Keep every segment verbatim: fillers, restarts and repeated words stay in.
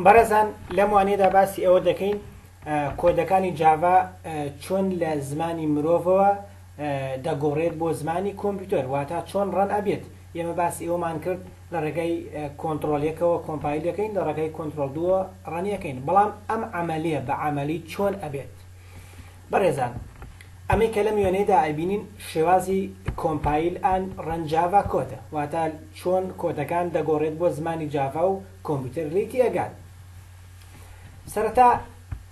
بەڕێزان، لەم وانەیەدا باسی ئەوە دەکەین کۆدەکانی جاڤا چۆن لە زمانی مرۆڤەوە دەگۆڕێت بۆ زمانی کۆمپیوتەر، واتە چۆن run ئەبێت. ئێمە باسی ئەومان کرد لە ڕێگای کۆنترۆڵ یەکەوە compile دەکەین، لە ڕێگای کۆنترۆڵ دووە run ەکەین، بەڵام ئەم عملیە بە عملی چۆن ئەبێت؟ بەڕێزان، ئەمەی کە لەم وێنەیەدا ئەبینین شێوازی compile and run Java code ە، واتە چۆن کۆدەکان دەگۆڕێت بۆ زمانی جاڤا و کۆمپیوتەر لێی تێئەگات. سەرەتا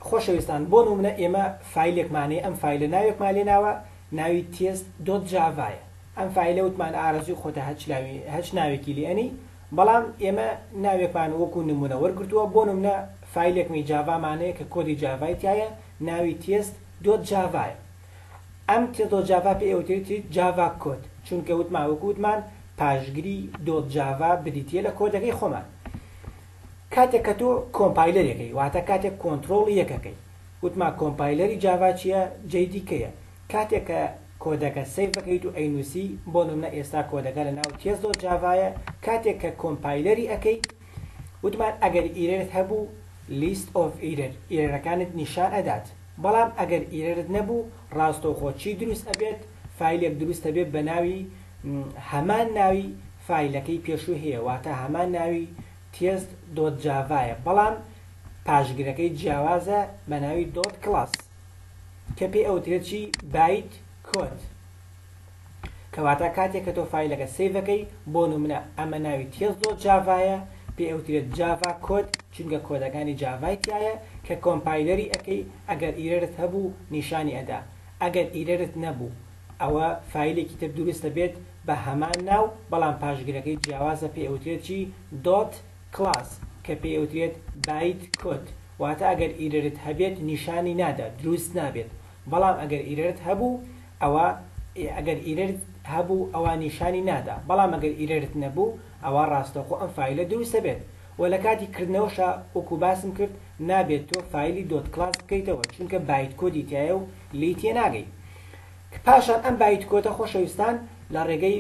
خۆشەویستان، بۆ نمونە ئێمە فایلێکمانەیە، ئەم فایلە ناوێکمان لێ ناوە، ناوی test dot Java یە. ئەم فایلە وتمان ئارەزوی خۆتە هەچ ناوێکی لێ ئەنی، بەڵام ئێمە ناوێکمان وەکو نمونە وەرگرتووە. بۆ نمونە فایلێکمی جاڤامانەیە کە کۆدی جاڤای تایە، ناوی test dot Java یە. ئەم test dot Java پێ ئەوترێت Java code، چونکە وتمان وەکو وتمان پاشگری dot Java بریتیە لە کۆدەکەی خۆمان. کاتێک کە تۆ compiler ەکەی، واتە کاتێک کۆنترۆڵی یەکەکەی، وتمان compiler ی جاڤا چییە؟ J D K یە. کاتێک کە کۆدەکە save بکەیت و ئەینوسی، بۆ نمونە ئێستا کۆدەکە لە ناو test dot Java یە، کاتێک کە compiler ی ئەەکەی، وتمان ئەگەر error ت هەبوو list of error، error ەکانت نیشان ئەدات، بەڵام ئەگەر error ت نەبوو ڕاستەوخۆ چی دروست ئەبێت؟ فایلێک دروست ئەبێت بە ناوی هەمان ناوی فایلەکەی پێشوو هەیە، واتە هەمان ناوی test dot Java یە، بەڵام پاشگرەکەی جیاوازە بە ناوی dot class کە پێی ئەوترێت چی؟ byte code. کەواتە کاتێک کە تۆ فایلەکە save ەکەی، بۆ نمونە ئەمە ناوی test dot Java یە، پێ ئەوترێت Java code چونکە کۆدەکانی جاڤای تایە. کە compiler ی ئەەکەی، ئەگەر error ت هەبوو نیشانی ئەدا، ئەگەر error ت نەبوو ئەوە فایلێکی تر دروستە بێت بە هەمان ناو، بەڵام پاشگرەکەی جیاوازە، پێ ئەوترێت چی؟ dot class کە پێ ئەوترێت byte code. واتە ئەگەر error ت هەبێت نیشانی نادا، دروست نابێت، بەڵام ئەگەر error ت هەبوو ئەوە ئەگەر error ت هەبوو ئەوە نیشانی نادا، بەڵام ئەگەر error ت نەبوو ئەوە ڕاستەوخۆ ئەم فایلە دروستە بێت. و لە کاتی کردنەوەشە وەکو باسم کرد نابێت تۆ فایلی dot class بکەیتەوە، چونکە byte code ی تایە و لی تێ ناگەی. پاشان ئەم byte code ە خۆشەویستان لە ڕێگەی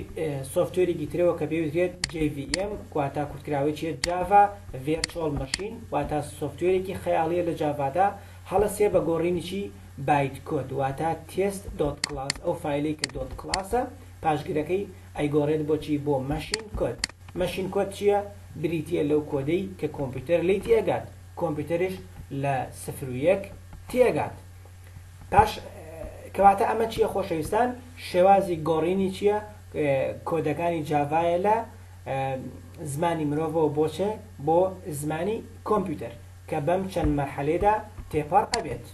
software ێکی ترەوە کە پێوترێت J V M، واتە کورتکراوەی چیە؟ Java Virtual Machine، واتە software ێکی خەیاڵیە لە جاڤادا، هەڵەسێ بە گۆڕینی چی؟ byte code، واتە test dot class. ئەو فایلەی کە dot class ە پاشگرەکەی ئەیگۆڕێت بۆچی؟ بۆ machine code. Machine code چییە؟ بریتە لەو کۆدەی کە کۆمپیوتەر لی تێگات، کۆمپیوتەرش لە سفر و یەک تێگات. پاش کەواتە ئەمە چییە خۆشەویستان؟ شێوازی گۆڕینی چییە؟ کۆدەکانی جاڤایە لە زمانی مرۆڤەوە بۆچێ؟ بۆ زمانی کۆمپیوتەر، کە بەم چەند مەرحەلێدا تێپەڕ ئەبێت.